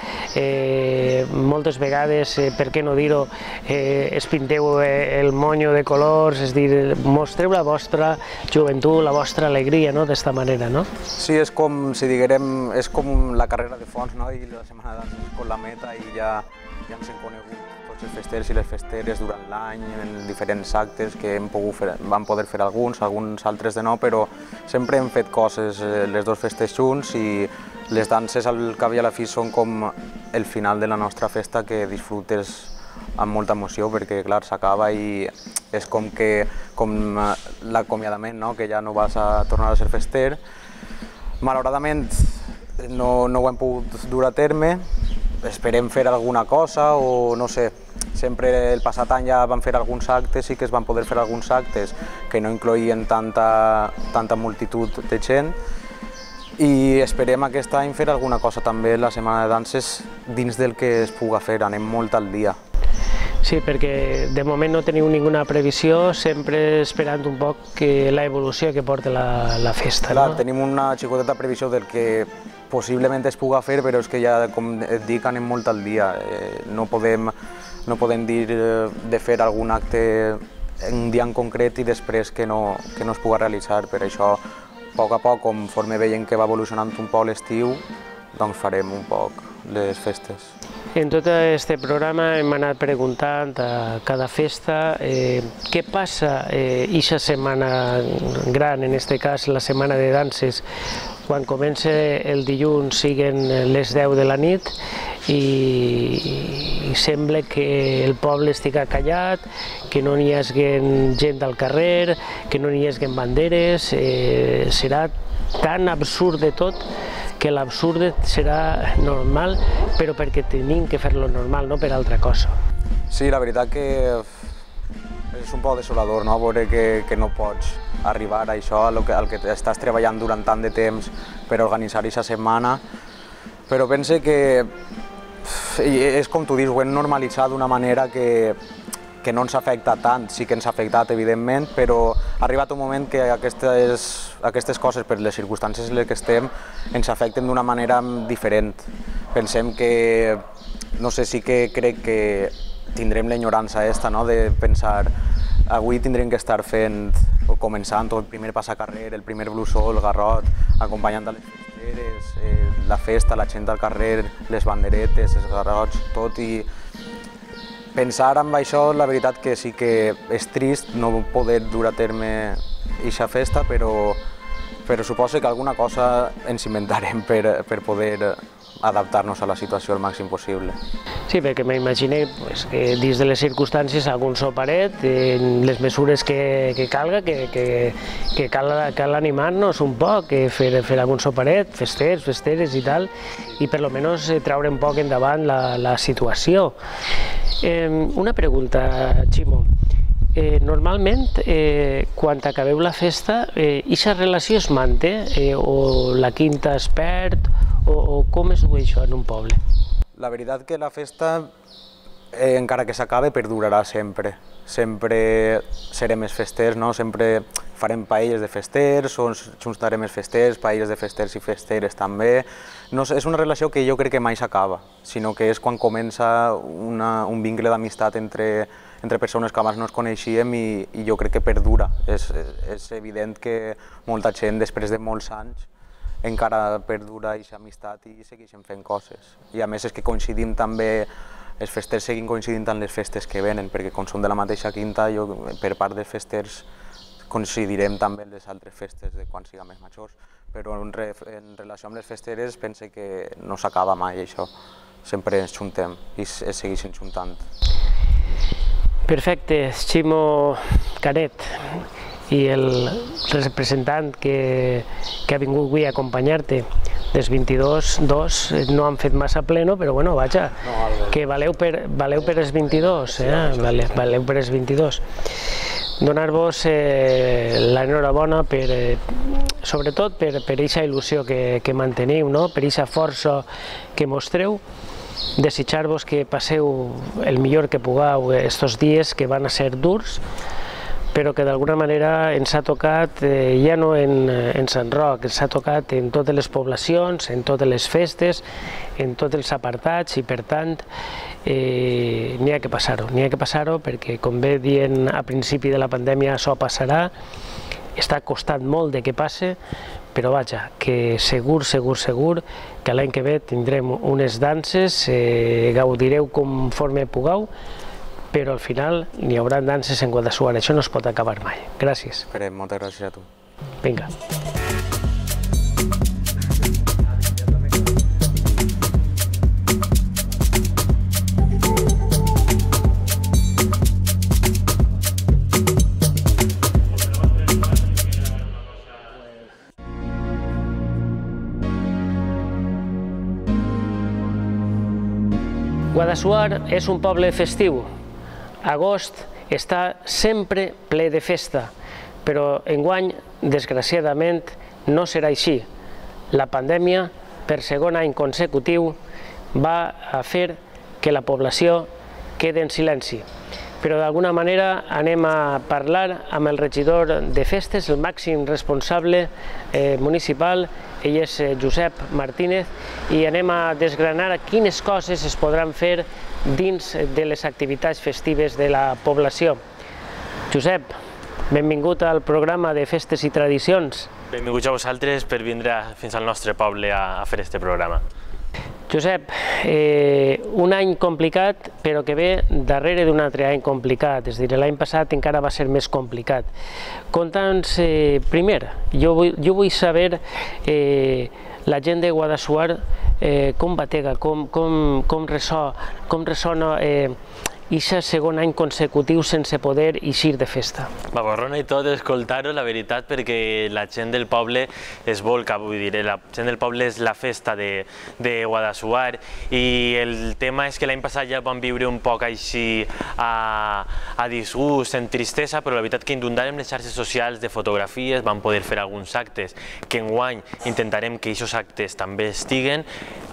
moltes vegades, per què no dir-ho, es pinteu el monyo de colors, és a dir, mostreu la vostra joventut, la vostra alegria, d'esta manera, no? Sí, és com, si diguem, és com la carrera de fons, i la setmana d'anys com la meta, i ja ens hem conegut tots els festers i les festeres durant l'any, en diferents actes que vam poder fer alguns altres de no, però sempre hem fet coses, les dos festes junts, i les danses al cap i a la fi són com el final de la nostra festa, que disfrutes amb molta emoció, perquè clar, s'acaba i és com l'acomiadament, que ja no vas a tornar a ser fester. Malauradament no ho hem pogut dur a terme, esperem fer alguna cosa o no sé, sempre el passat any ja vam fer alguns actes, sí que es van poder fer alguns actes que no incloïen tanta multitud de gent, i esperem aquest any fer alguna cosa també la setmana de danses dins del que es puga fer, anem molt al dia. Sí, perquè de moment no teniu ninguna previsió, sempre esperant un poc l'evolució que porta la festa. Clar, tenim una xicoteta previsió del que possiblement es puga fer, però és que ja, com et dic, anem molt al dia. No podem dir de fer algun acte un dia en concret i després que no es puga realitzar. Per això, a poc, conforme veiem que va evolucionant un poc l'estiu, doncs farem un poc les festes. En tot aquest programa hem anat preguntant a cada festa què passa eixa setmana gran, en aquest cas la setmana de danses, quan comença el dilluns siguen les 10 de la nit i sembla que el poble estigui callat, que no n'hi hagi gent al carrer, que no n'hi hagi banderes, serà tan absurd de tot que l'absurd serà normal, però perquè tenim que fer-lo normal, no per altra cosa. Sí, la veritat que és un poc desolador, no? Veure que no pots arribar a això, al que estàs treballant durant tant de temps per organitzar aquesta setmana, però pense que és com tu dius, ho hem normalitzat d'una manera que no ens afecta tant, sí que ens ha afectat evidentment, però ha arribat un moment que aquestes coses, per les circumstàncies en les que estem, ens afecten d'una manera diferent. Pensem que, no sé, sí que crec que tindrem l'enyorança aquesta, no?, de pensar avui tindrem que estar fent o començant el primer passacarrer, el primer blusó, el garrot, acompanyant a les festeres, la festa, la gent al carrer, les banderetes, els garrots, tot, i pensar en això, la veritat que sí que és trist no poder dur a terme aquesta festa, però suposo que alguna cosa ens inventarem per poder adaptar-nos a la situació el màxim possible. Sí, perquè m'imagino que dins de les circumstàncies algun soparet, les mesures que calga, que cal animar-nos un poc, fer algun soparet, festeres i tal, i per almenys treure un poc endavant la situació. Una pregunta, Ximo. Normalment, quan acabeu la festa, aquesta relació es manté o la quinta es perd o com es du això en un poble? La veritat que la festa, encara que s'acabe, perdurarà sempre. Sempre serem els festers, no? Sempre farem paelles de festers, o juntarem els festers, paelles de festers i festeres també. És una relació que jo crec que mai s'acaba, sinó que és quan comença un vincle d'amistat entre persones que abans no es coneixíem i jo crec que perdura. És evident que molta gent, després de molts anys, encara perdura aquesta amistat i segueixen fent coses. I a més és que coincidim també, els festers seguim coincidint amb les festes que venen, perquè com som de la mateixa quinta, per part dels festers coincidirem també amb les altres festes de quan siguem més majors, però en relació amb les festeres pense que no s'acaba mai això, sempre ens juntem i es segueixen juntant. Perfecte, Ximo Canet, i el representant que ha vingut avui a acompanyar-te dels 22 no han fet massa pleno, però bueno, vaja, que valeu per els 22, valeu per els 22. Donar-vos l'enhorabona sobretot per aquesta il·lusió que manteniu, per aquesta força que mostreu, desitjar-vos que passeu el millor que pugueu estos dies que van a ser durs, però que d'alguna manera ens ha tocat ja no en Sant Roc, ens ha tocat en totes les poblacions, en totes les festes, en tots els apartats, i per tant n'hi ha que passar-ho, perquè com bé dient a principi de la pandèmia això passarà, està costant molt de que passe, però vaja, que segur que l'any que ve tindrem unes danses, gaudireu conforme pugueu, però al final n'hi haurà danses en Guadassuar, això no es pot acabar mai. Gràcies. Esperem, moltes gràcies a tu. Vinga. Guadassuar és un poble festiu. Agost està sempre ple de festa, però enguany, desgraciadament, no serà així. La pandèmia, per segon any consecutiu, va a fer que la població quedi en silenci. Però d'alguna manera anem a parlar amb el regidor de festes, el màxim responsable municipal, ell és Josep Martínez, i anem a desgranar quines coses es podran fer dins de les activitats festives de la població. Josep, benvingut al programa de Festes i Tradicions. Benvinguts a vosaltres per vindre fins al nostre poble a fer aquest programa. Josep, un any complicat, però que ve darrere d'un altre any complicat, és a dir, l'any passat encara va ser més complicat. Conta'ns, primer, jo vull saber la gent de Guadassuar com batega, com ressona aquest segon any consecutiu sense poder eixir de festa. M'aborrona i tot escoltar-ho, la veritat, perquè la gent del poble es volca, vull dir, la gent del poble és la festa de Guadassuar i el tema és que l'any passat ja vam viure un poc així a disgust, en tristesa, però la veritat que inundarem les xarxes socials de fotografies, vam poder fer alguns actes, que enguany intentarem que aquests actes també estiguen,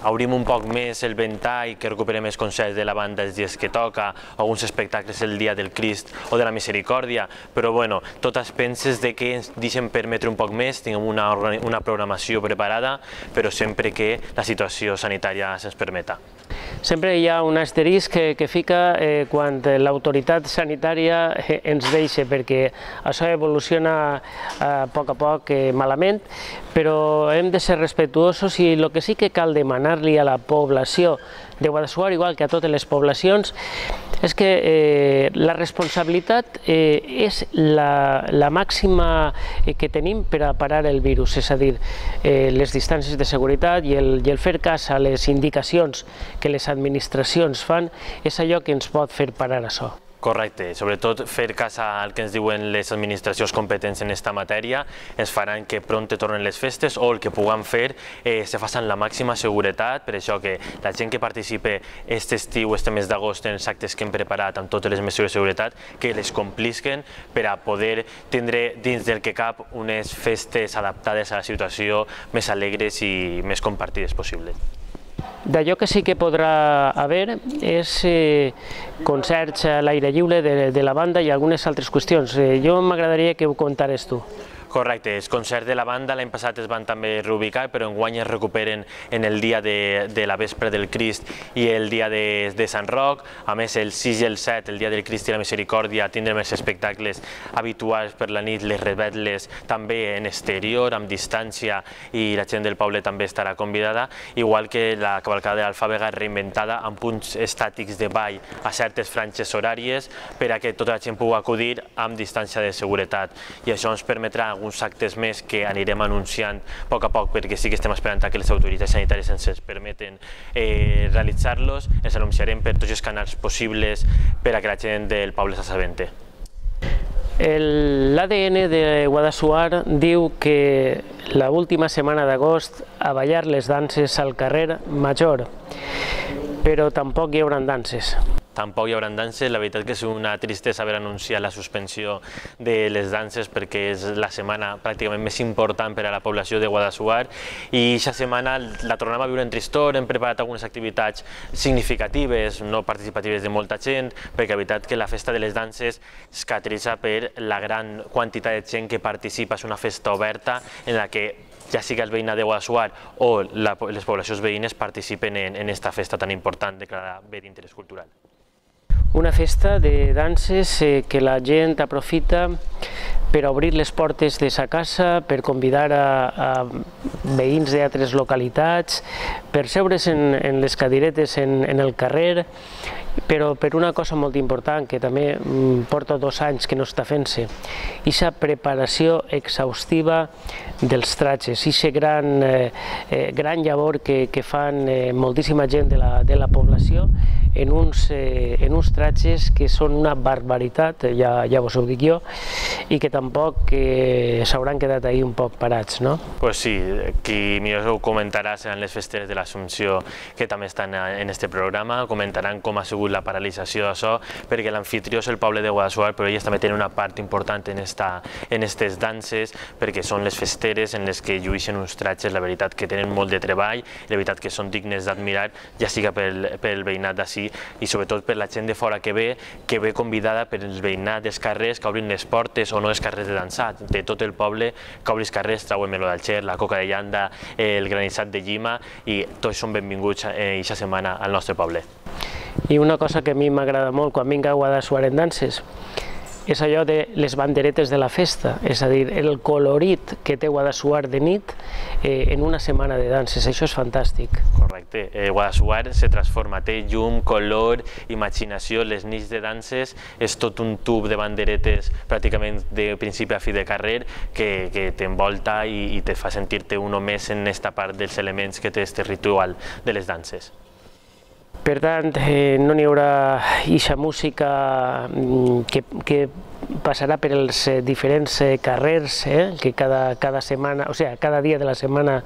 obrim un poc més el ventall, que recuperem els concerts de la banda els dies que toca, alguns espectacles el dia del Crist o de la Misericòrdia, però bueno, tot es penses de que ens deixen permetre un poc més, tinguem una programació preparada, però sempre que la situació sanitària se'ns permeta. Sempre hi ha un asterisc que fica quan l'autoritat sanitària ens deixa, perquè això evoluciona a poc malament, però hem de ser respectuosos i el que sí que cal demanar-li a la població de Guadassuar, igual que a totes les poblacions, és que la responsabilitat és la màxima que tenim per a parar el virus, és a dir, les distàncies de seguretat i el fer cas a les indicacions que les administracions fan és allò que ens pot fer parar això. Correcte, sobretot fer cas al que ens diuen les administracions competents en aquesta matèria ens faran que prompte tornen les festes o el que puguem fer se faci amb la màxima seguretat, per això que la gent que participe aquest estiu, este mes d'agost, en els actes que hem preparat amb totes les mesures de seguretat, que les complisquen per a poder tindre dins del que cap unes festes adaptades a la situació més alegres i més compartides possible. D'allò que sí que podrà haver és concerts a l'aire lliure de la banda i algunes altres qüestions. Jo m'agradaria que ho contares tu. Correcte, els concerts de la banda l'any passat es van també reubicar, però enguany es recuperen en el dia de la vespre del Crist i el dia de Sant Roc. A més, el 6 i el 7, el dia del Crist i la Misericòrdia, tindrem els espectacles habituals per la nit, les revetles també en exterior, amb distància, i la gent del poble també estarà convidada, igual que la cavalcada de l'Alfàbega reinventada amb punts estàtics de ball a certes franges horàries per a que tota la gent pugui acudir amb distància de seguretat. I això ens permetrà alguns actes més que anirem anunciant a poc, perquè sí que estem esperant que les autoritats sanitàries ens permeten realitzar-los. Els anunciarem per tots els canals possibles per a que la gent del poble s'assabenti. L'ADN de Guadassuar diu que l'última setmana d'agost a ballar les danses al carrer Major, però tampoc hi haurà danses. Tampoc hi haurà danses, la veritat que és una tristesa haver anunciat la suspensió de les danses perquè és la setmana pràcticament més important per a la població de Guadassuar i aquesta setmana la tornem a viure en tristor, hem preparat algunes activitats significatives, no participatives de molta gent, perquè la veritat que la festa de les danses es caracteritza per la gran quantitat de gent que participa, és una festa oberta en la que ja sigui el veïnat de Guadassuar o les poblacions veïnes participen en aquesta festa tan important declarada bé d'interès cultural. Una festa de danses que la gent aprofita per obrir les portes de sa casa, per convidar a veïns d'altres localitats, per seure's en les cadiretes en el carrer, però per una cosa molt important que també porta 2 anys que no està fent-se, aquesta preparació exhaustiva dels tratges, aquesta gran llavor que fan moltíssima gent de la població en uns tratges que són una barbaritat, ja vos ho dic jo, i que tampoc s'hauran quedat ahir un poc parats, no? Pues sí, qui millor ho comentarà seran les festeres de l'Assumpció que també estan en este programa, comentaran com ha sigut la paralització d'això, perquè l'anfitrió és el poble de Guadassuar, però elles també tenen una part important en aquestes danses, perquè són les festeres en les que llueixen uns tratges, la veritat que tenen molt de treball, la veritat que són dignes d'admirar, ja siga pel veïnat d'ací i sobretot per la gent de fora que ve convidada per el veïnat dels carrers que obrin les portes o no els carrers de dansar, de tot el poble que obri els carrers, trauen meló d'Alger, la coca de llanda, el granissat de llima i tots són benvinguts aquesta setmana al nostre poble. I una cosa que a mi m'agrada molt quan vinc a Guadassuar en danses és allò de les banderetes de la festa, és a dir, el colorit que té Guadassuar de nit en una setmana de danses, això és fantàstic. Correcte, Guadassuar se transforma, té llum, color, imaginació, les nits de danses, és tot un tub de banderetes pràcticament de principi a fi de carrer que t'envolta i te fa sentir-te un més en aquesta part dels elements que té este ritual de les danses. Per tant, no n'hi haurà eixa música que passarà per els diferents carrers, que cada setmana, o sigui, cada dia de la setmana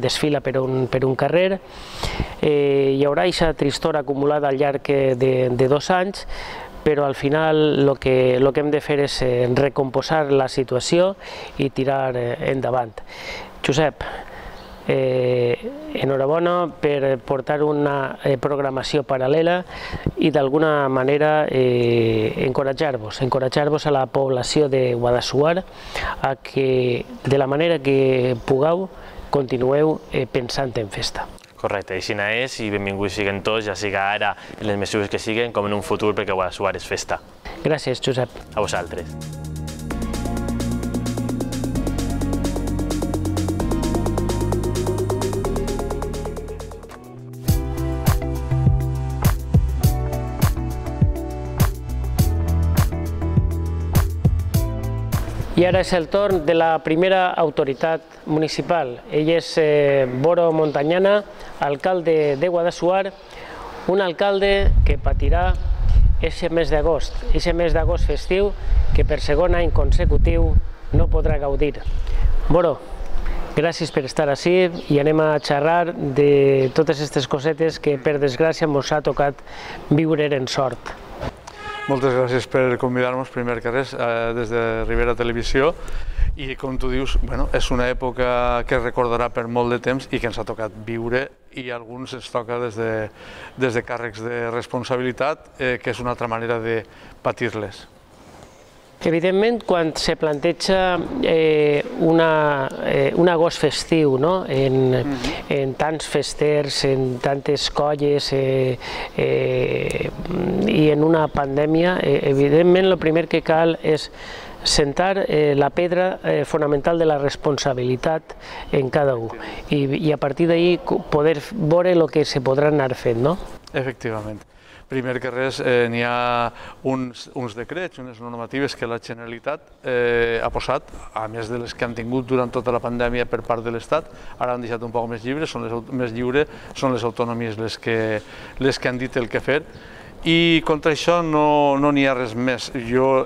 desfila per un carrer. Hi haurà eixa tristor acumulada al llarg de 2 anys, però al final el que hem de fer és recomposar la situació i tirar endavant. Josep, enhorabona per portar una programació paral·lela i d'alguna manera encoratjar-vos a la població de Guadassuar a que de la manera que pugueu continueu pensant en festa. Correcte, així és, i benvinguts siguen tots, ja siga ara en les mesures que siguen com en un futur, perquè Guadassuar és festa. Gràcies, Josep. A vosaltres. I ara és el torn de la primera autoritat municipal. Ell és Boro Montañana, alcalde de Guadassuar, un alcalde que patirà aquest mes d'agost festiu que per segon any consecutiu no podrà gaudir. Boro, gràcies per estar ací i anem a xerrar de totes aquestes cosetes que per desgràcia ens ha tocat viure en sort. Moltes gràcies per convidar-nos, primer que res, des de Ribera Televisió. I com tu dius, és una època que es recordarà per molt de temps i que ens ha tocat viure, i a alguns ens toca des de càrrecs de responsabilitat, que és una altra manera de patir-les. Evidentment, quan se planteja un agost festiu, en tants festers, en tantes colles i en una pandèmia, evidentment el primer que cal és sentar la pedra fonamental de la responsabilitat en cada un i a partir d'ahí poder veure el que se podrà anar fent, no? Efectivament. Primer que res, n'hi ha uns decrets, unes normatives que la Generalitat ha posat, a més de les que han tingut durant tota la pandèmia per part de l'Estat, ara han deixat un poc més lliures, són les autonomies les que han dit el que fer, i contra això no n'hi ha res més. Jo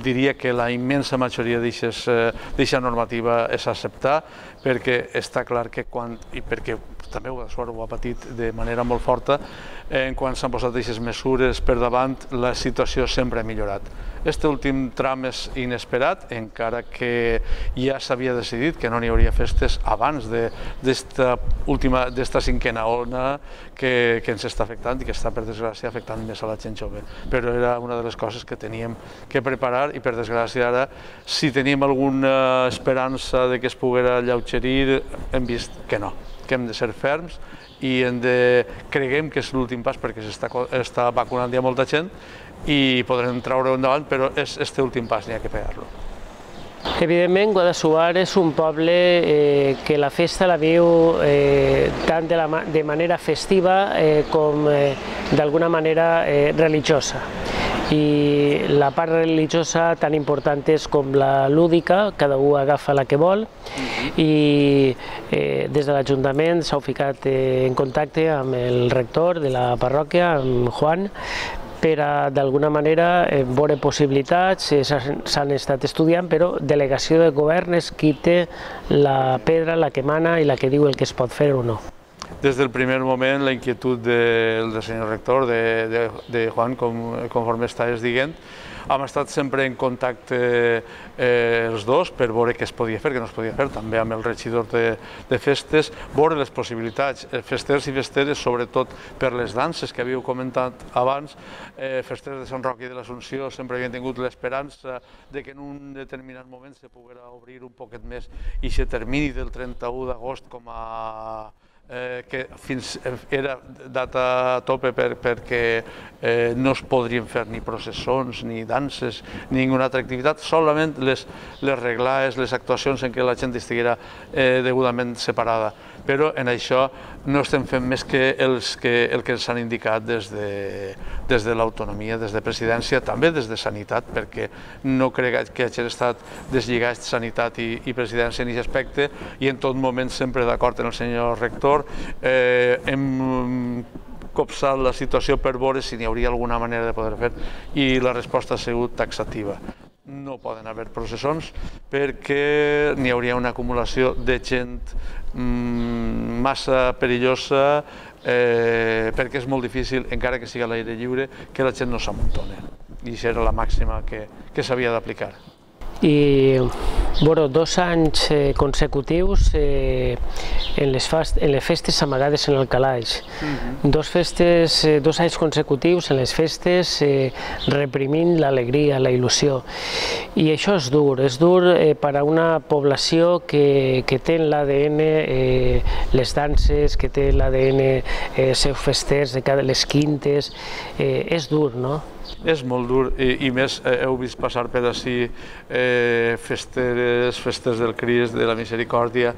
diria que la immensa majoria d'aquesta normativa és acceptar, perquè està clar que i perquè també Guadassuar ho ha patit de manera molt forta, quan s'han posat aquestes mesures per davant, la situació sempre ha millorat. Este últim tram és inesperat, encara que ja s'havia decidit que no n'hi hauria festes abans d'esta cinquena ona que ens està afectant i que està, per desgràcia, afectant més a la gent jove. Però era una de les coses que teníem que preparar i, per desgràcia, ara, si teníem alguna esperança de que es poguera alleugerir, hem vist que no, que hem de ser ferms i creguem que és l'últim pas perquè s'està vacunant ja molta gent i podrem treure-ho endavant, però és este últim pas, n'hi ha que pegar-lo. Evidentment, Guadassuar és un poble que la festa la viu tant de manera festiva com d'alguna manera religiosa. I la part religiosa tan important és com la lúdica, cada un agafa la que vol, i des de l'Ajuntament s'ha ficat en contacte amb el rector de la parròquia, amb Juan, per a d'alguna manera veure possibilitats, s'han estat estudiant, però delegació de govern és qui té la pedra, la que mana i la que diu el que es pot fer o no. Des del primer moment, la inquietud del senyor rector, de Juan, conforme estàs dient, hem estat sempre en contacte els dos per veure què es podia fer, què no es podia fer, també amb el regidor de festes, veure les possibilitats, festers i festeres, sobretot per les danses que havíeu comentat abans, festers de Sant Roc i de l'Assumpció sempre havien tingut l'esperança de que en un determinat moment se poguera obrir un poquet més i se termini del 31 d'agost com a que era data a tope perquè no es podrien fer ni processons, ni danses, ni ninguna altra activitat, solament les reglaes, les actuacions en què la gent estiguera degudament separada. Però en això no estem fent més que el que ens han indicat des de l'autonomia, des de presidència, també des de sanitat, perquè no crec que hagi estat deslligat sanitat i presidència en aquest aspecte, i en tot moment sempre d'acord amb el senyor rector. Hem copsat la situació per veure si n'hi hauria alguna manera de poder fer, i la resposta ha sigut taxativa. No poden haver processons perquè n'hi hauria una acumulació de gent massa perillosa, perquè és molt difícil, encara que sigui a l'aire lliure, que la gent no s'amuntoni. I això era la màxima que s'havia d'aplicar. I, bueno, 2 anys consecutius en les festes amagades en el calaix. 2 anys consecutius en les festes reprimint l'alegria, la il·lusió. I això és dur per a una població que té en l'ADN les danses, que té l'ADN seus festers, les quintes. És dur, no? És molt dur, i més heu vist passar per ací festeres del Crist, de la Misericòrdia,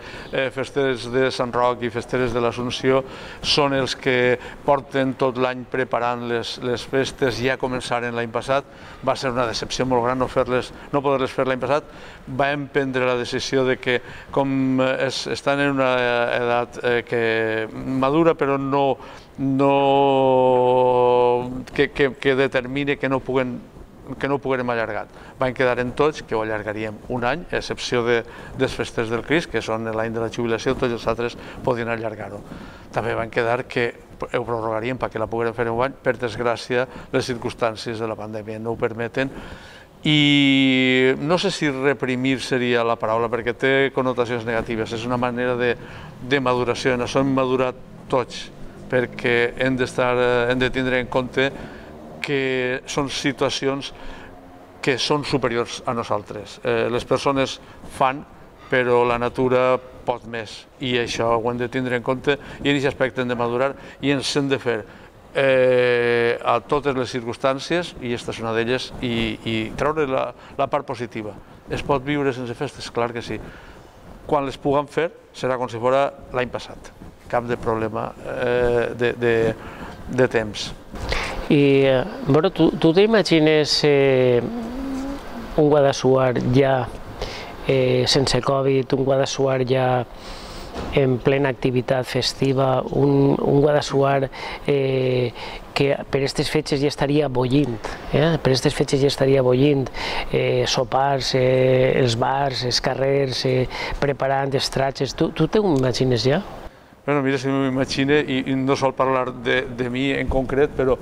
festeres de Sant Roc i festeres de l'Assumpció. Són els que porten tot l'any preparant les festes, ja començaren l'any passat. Va ser una decepció molt gran no poder-les fer l'any passat. Vam prendre la decisió de que, com estan en una edat madura, però que determini que no puguem allargar. Van quedar en tots que ho allargaríem un any, a excepció dels festers del Crist, que són l'any de la jubilació, tots els altres podien allargar-ho. També van quedar que ho prorrogaríem perquè la poguérem fer un any. Per desgràcia, les circumstàncies de la pandèmia no ho permeten. I no sé si reprimir seria la paraula, perquè té connotacions negatives. És una manera de maduració. En això hem madurat tots, perquè hem de tindre en compte que són situacions que són superiors a nosaltres. Les persones fan, però la natura pot més, i això ho hem de tindre en compte, i en aquest aspecte hem de madurar i ens hem de fer a totes les circumstàncies, i aquesta és una d'elles, i treure la part positiva. Es pot viure sense festes? Clar que sí. Quan les puguem fer serà com si fos l'any passat. Cap de problema de temps. I, bueno, tu t'imagines un Guadassuar ja sense Covid, un Guadassuar ja en plena activitat festiva, un Guadassuar que per aquestes fetges ja estaria bullint, per aquestes fetges ja estaria bullint, sopars, els bars, els carrers, preparant els tratges. Tu t'ho imagines ja? Bueno, mira, si m'ho imagine, i no sol parlar de mi en concret, però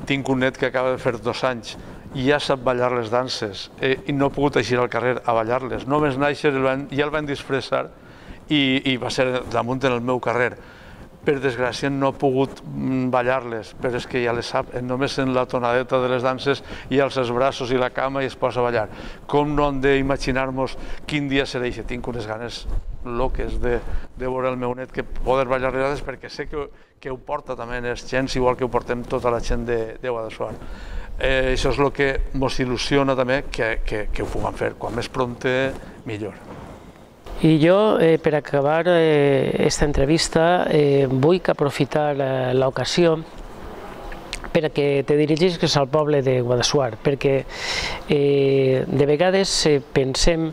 tinc un net que acaba de fer 2 anys i ja sap ballar les danses i no ha pogut eixir al carrer a ballar-les. Només nàixer ja el van disfressar i va ser damunt en el meu carrer. Per desgràcia no ha pogut ballar-les, però és que ja les sap. Només en la tonadeta de les danses i alça els braços i la cama i es posa a ballar. Com no hem d'imaginar-nos quin dia serà això? Tinc unes ganes loques de veure el meu net que poder ballar les danses, perquè sé que ho porta també els gens, igual que ho portem tota la gent de Guadassuar. Això és el que ens il·lusiona també, que ho puguem fer. Quan més prompte, millor. I jo, per acabar aquesta entrevista, vull aprofitar l'ocasió perquè te dirigisques al poble de Guadassuar, perquè de vegades pensem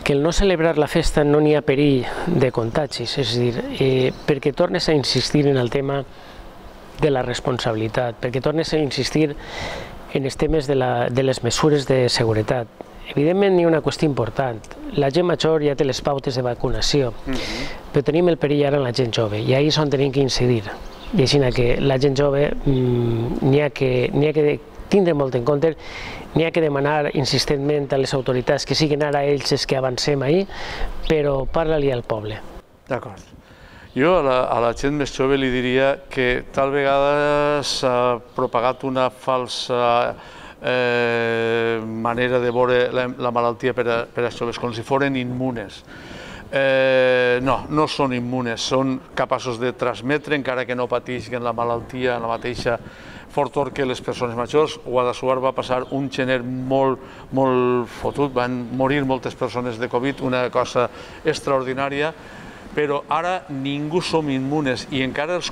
que el no celebrar la festa no n'hi ha perill de contagis, és a dir, perquè tornes a insistir en el tema de la responsabilitat, perquè tornes a insistir en els temes de les mesures de seguretat. Evidentment, hi ha una qüestió important. La gent major ja té les pautes de vacunació, però tenim el perill ara en la gent jove, i ahir és on tenim que incidir. I així que la gent jove n'hi ha que tindre molt en compte, n'hi ha que demanar insistentment a les autoritats que siguin ara ells els que avancem ahir, però parla-li al poble. D'acord. Jo a la gent més jove li diria que tal vegada s'ha propagat una falsa manera de veure la malaltia per als joves, com si foren immunes. no són immunes, són capaços de transmetre, encara que no patisquen la malaltia en la mateixa fortor que les persones majors. Guadassuar va passar un gener molt fotut, van morir moltes persones de Covid, una cosa extraordinària, però ara ningú som immunes i encara els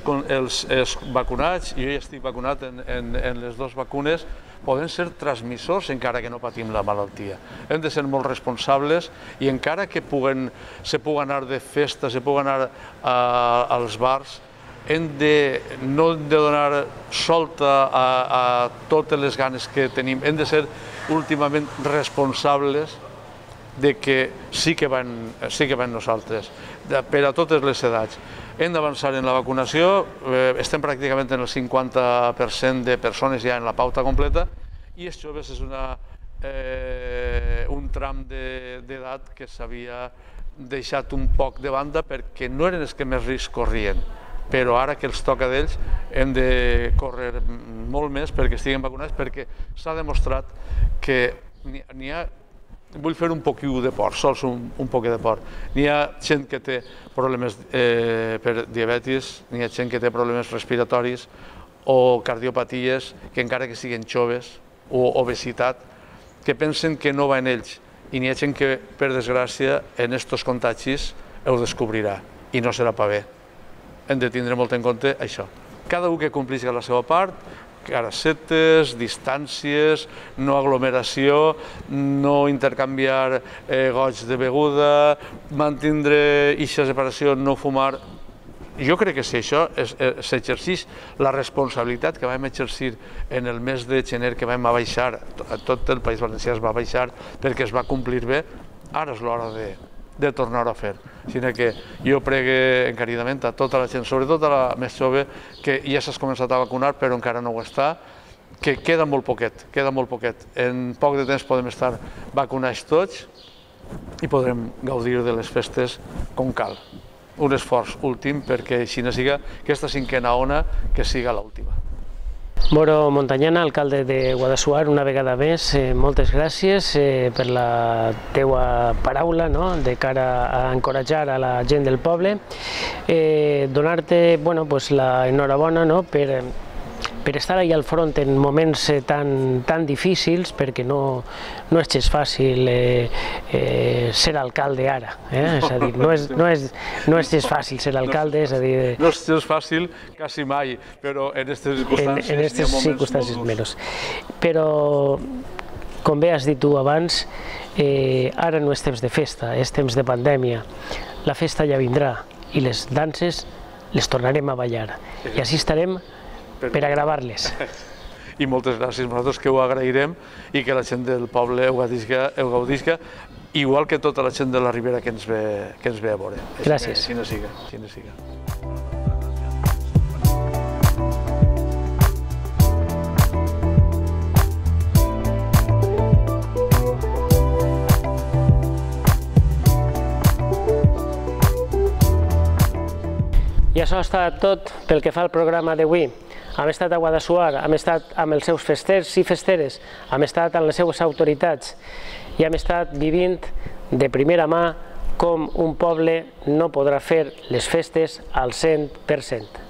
vacunats, jo ja estic vacunat en les dues vacunes, poden ser transmissors encara que no patim la malaltia. Hem de ser molt responsables i encara que se pugui anar de festa, se pugui anar als bars, no hem de donar solta a totes les ganes que tenim, hem de ser últimament responsables de que sí que van nosaltres, per a totes les edats. Hem d'avançar en la vacunació, estem pràcticament en el 50% de persones ja en la pauta completa i els joves és un tram d'edat que s'havia deixat un poc de banda perquè no eren els que més risc corrien, però ara que els toca d'ells hem de córrer molt més perquè estiguen vacunats, perquè s'ha demostrat que n'hi ha. Vull fer un poquiu de por, sols un poc de por. N'hi ha gent que té problemes per diabetis, n'hi ha gent que té problemes respiratoris o cardiopaties, que encara que siguin joves, o obesitat, que pensen que no va en ells. I n'hi ha gent que, per desgràcia, en aquests contagis ho descobrirà i no serà pa bé. Hem de tindre molt en compte això. Cada un que compleixi la seva part, caracetes, distàncies, no aglomeració, no intercanviar gots de beguda, mantindre aquesta separació, no fumar. Jo crec que si això s'exerceix la responsabilitat que vam exercir en el mes de gener, que vam abaixar, tot el País Valencià es va abaixar perquè es va complir bé, ara és l'hora de tornar-ho a fer. Així que jo pregue encaridament a tota la gent, sobretot a la més jove, que ja s'ha començat a vacunar però encara no ho està, que queda molt poquet, En poc de temps podem estar vacunats tots i podrem gaudir de les festes com cal. Un esforç últim perquè així no siga aquesta cinquena ona que siga l'última. Moro Montañana, alcalde de Guadassuar, una vegada més, moltes gràcies per la teua paraula de cara a encoratjar a la gent del poble. Donar-te l'enhorabona per estar allà al front en moments tan difícils, perquè no és gens fàcil ser alcalde ara. És a dir, no és gens fàcil ser alcalde, és a dir... No és gens fàcil quasi mai, però en aquestes circumstàncies menys. Però, com bé has dit tu abans, ara no és temps de festa, és temps de pandèmia. La festa ja vindrà i les danses les tornarem a ballar. I així estarem per a gravar-les. I moltes gràcies, nosaltres que ho agrairem i que la gent del poble ho gaudisca, igual que tota la gent de la Ribera que ens ve a veure. Gràcies. Així no siga. I això ha estat tot pel que fa al programa d'avui. Hem estat a Guadassuar, hem estat amb els seus festers i festeres, hem estat amb les seues autoritats i hem estat vivint de primera mà com un poble no podrà fer les festes al 100%.